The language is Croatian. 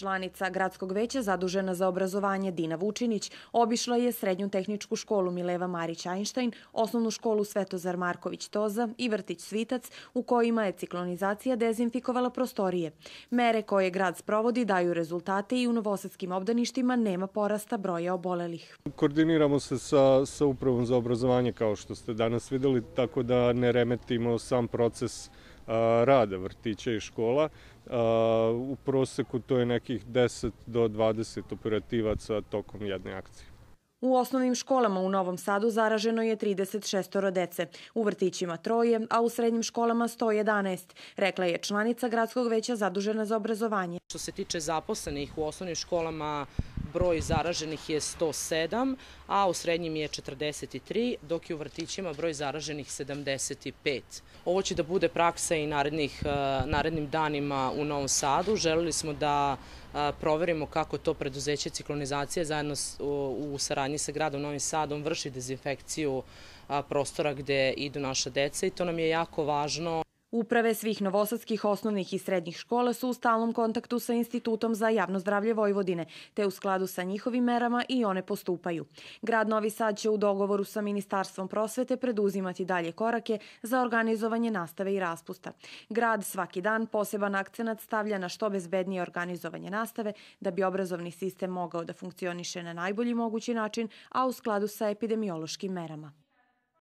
Članica Gradskog veća zadužena za obrazovanje Dina Vučinić obišla je Srednju tehničku školu Mileva Marić Einstein, Osnovnu školu Svetozar Marković Toza i vrtić Svitac, u kojima je ciklonizacija dezinfikovala prostorije. Mere koje grad sprovodi daju rezultate i u novosadskim obdaništima nema porasta broja obolelih. Koordiniramo se sa Upravom za obrazovanje, kao što ste danas videli, tako da ne remetimo sam proces rada vrtića i škola. U proseku to je nekih 10 do 20 operativaca tokom jedne akcije. U osnovnim školama u Novom Sadu zaraženo je 36 dece, u vrtićima 3, a u srednjim školama 111, rekla je članica Gradskog veća zadužena za obrazovanje. Što se tiče zaposlenih u osnovnim školama, broj zaraženih je 107, a u srednjim je 43, dok je u vrtićima broj zaraženih 75. Ovo će da bude praksa i narednim danima u Novom Sadu. Želeli smo da proverimo kako to preduzeće ciklonizacije zajedno u saradnji sa gradom Novim Sadom vrši dezinfekciju prostora gde idu naša deca i to nam je jako važno. Uprave svih novosadskih osnovnih i srednjih škola su u stalnom kontaktu sa Institutom za javno zdravlje Vojvodine, te u skladu sa njihovim merama i one postupaju. Grad Novi Sad će u dogovoru sa Ministarstvom prosvete preduzimati dalje korake za organizovanje nastave i raspusta. Grad svaki dan poseban akcenat stavlja na što bezbednije organizovanje nastave da bi obrazovni sistem mogao da funkcioniše na najbolji mogući način, a u skladu sa epidemiološkim merama.